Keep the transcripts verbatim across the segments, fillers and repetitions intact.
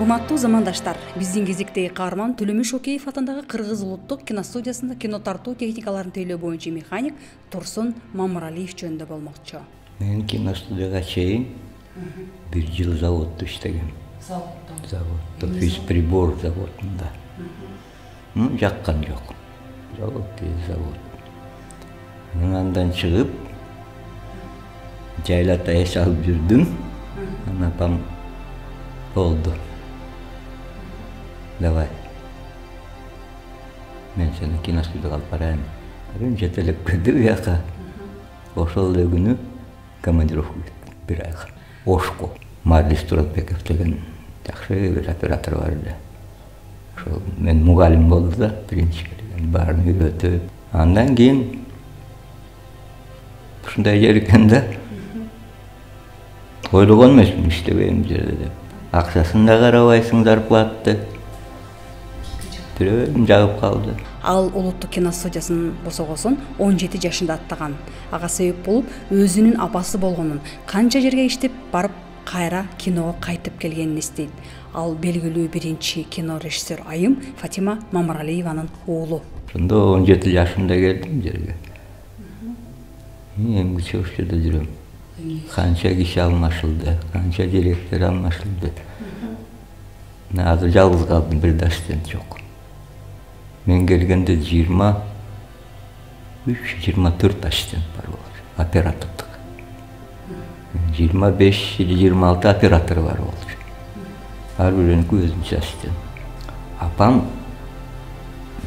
Урматтуу замандаштар, биздин кезектеги каарман Төлөмүш Шокеев атындагы Кыргыз улуттук киностудиясында кино тартуу техникаларын тейлөө боюнча механик Турсун Мамыралиев жөнүндө болмокчу. Мен киностудияга чейин бир жыл заводдо иштегем. Заводдо. Заводдо, физприбор заводунда. Ну, жаккан жок. Завод, завод. Андан чыгып, жайлата эс алып жүрдүм. Анан апам болду. Давай. Мен сени киностудияга алып барайын. Бирин жетелеп келди буяка. Ошол эле күнү командировка кеттим бир айга. Ошко. Марлис Туратбеков деген жакшы бир оператор бар эле. Ошол мен мугалим болду да, биринчи келген баарын үйрөтүп. Андан кийин ушундай жер экен да. Ойлогон эмесмин иштебейм жерде деп. Акчасын да карабайсың, зарплатты. Бирөөм жагып калды. Ал улуттук киностудиясын босогосун он жети жашында аттаган. Ага себеп болуп өзүнүн апасы болгонун, канча жерге иштеп барып кайра киного кайтып келгенин эстейт. Ал белгилүү биринчи кино режиссер айым Фатима Мамыралиеванын уулу. Ошондо он жети жашында келдим жерге. Эмгиче ошол жерде жүрөм. Канча киши алмашылды, канча директор алмашылды. Азыр жалгыз калдым, бир да ассистент жок. Мен келгенде жыйырма үч жыйырма төрт ассистент бар болчу, оператордук. жыйырма беш жыйырма алты оператор бар болчу. Ар бириники өзүнчө ассистент. Апам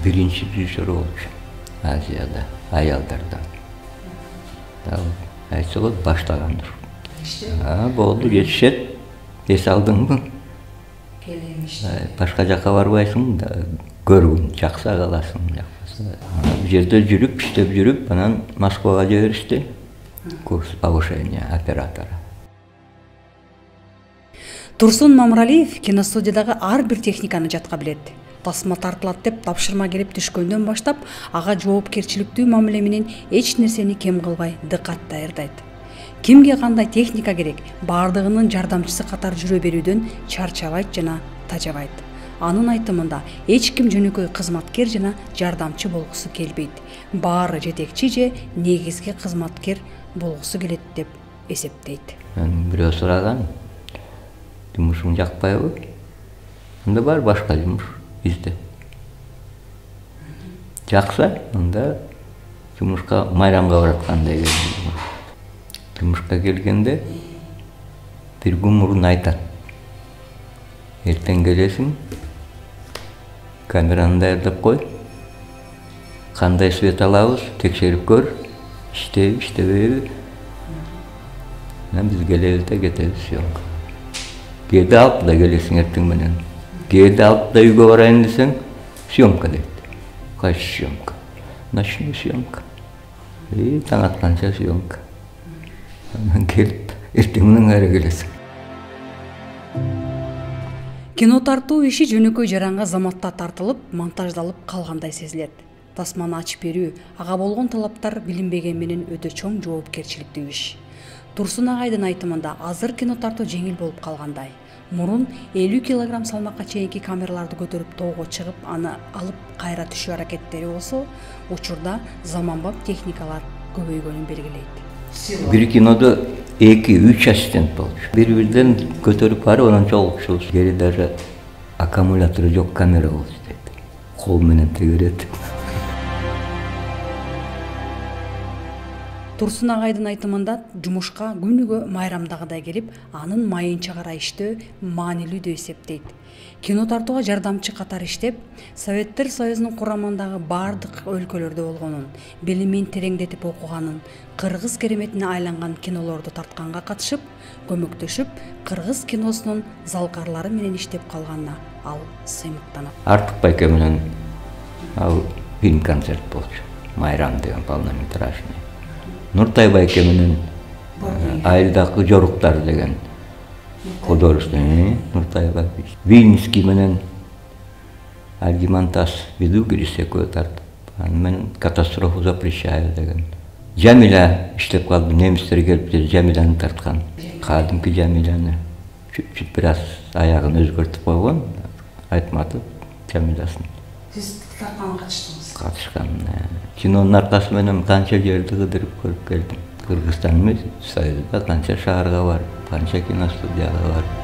биринчи режиссер болчу Азияда, аялдардан. Айтса болот, баштагандыр. А, болду, жетишет. Эс алдыңбы? Башка жакка барбайсың да, көргүн, жакса каласың, жакпаса. Бу жерде жүрүп, иштеп жүрүп, анан Москвага жиберишти. Курс повышения оператора. Турсун Мамыралиев киностудиядагы ар бир техниканы жатка билет. Тасма тартылат деп тапшырма келип түшкөндөн баштап, ага жоопкерчиликтүү мамиле менен эч нерсени кем кылбай дыкат даярдайт. Кимге кандай техника керек, бардыгынын жардамчысы катары жүрө берүүдөн чарчабайт жана тажабайт. Анын айтымында эч ким жөнөкөй кызматкер жана жардамчы болгусу келбейт. Баары жетекчи же негизги кызматкер болгусу келет деп эсептейт. Мен бирөө сураган, жумушуң жакпайбы? Анда бар башка жумуш изде. Жакса, анда жумушка майрамга бараткандай келдим. Жумушка келгенде бир күн мурун айтат. Эртең келесиң, камераны даярдап кой. Кандай свет алабыз, текшерип көр. Иштейби, иштебейби. Анан биз келебиз да кетебиз съемка. Кээде алып да келесиң эртең менен. Кээде алып да үйгө барайын десең, съемка дейт. Кайсы съемка? Ночной съемка. И таң атканча съемка. Анан келип, эртең менен кайра келесиң. Кино тартуу иши жөнөкөй жаранга заматта тартылып, монтаждалып калгандай сезилет. Тасманы ачып берүү, ага болгон талаптар билинбеген менен өтө чоң жоопкерчиликтүү иш. Турсун агайдын айтымында азыр кино тартуу жеңил болуп калгандай. Мурун элүү килограмм салмакка чейинки камераларды көтөрүп тоого чыгып, аны алып кайра түшүү аракеттери болсо, учурда заманбап техникалар көбөйгөнүн белгилейт. Бир кинодо эки үч ассистент болчу. Бири-бирден көтөрүп барып, анан чогултушубуз. Кээде даже аккумулятору жок камера болчу дейт. Кол менен тегерет. Турсун агайдын айтымында жумушка күнүгө майрамдагыдай келип, анын майынча карай иштөө маанилүү деп эсептейт. Кино тартууга жардамчы катары иштеп, Советтер Союзунун курамындагы бардык өлкөлөрдө болгонун, билимин тереңдетип окуганын, кыргыз кереметине айланган кинолорду тартканга катышып, көмөктөшүп, кыргыз киносунун залкарлары менен иштеп калганына ал сыймыктанат. Артык байке менен ал фильм концерт болчу. Майрам деген полнометражный. Нуртай байке менен Айылдагы жоруктар деген художественный Нуртай байке. Вильнюский менен Альгимантас Видугирис экөө тартып. Аны менен Катастрофу запрещаю деген. Жамиля иштеп калды, немистер келип Жамиляны тарткан. Кадимки Жамиляны. чуть бир аз аягын өзгөртүп койгон, Айтматов Жамилясын. Сиз тартканга катыштыңыз? Катышкан. Кинонун аркасы менен канча жерди кыдырып көрүп келдим. Кыргызстан эмес, Союзда канча шаарга барып, канча киностудияга барып.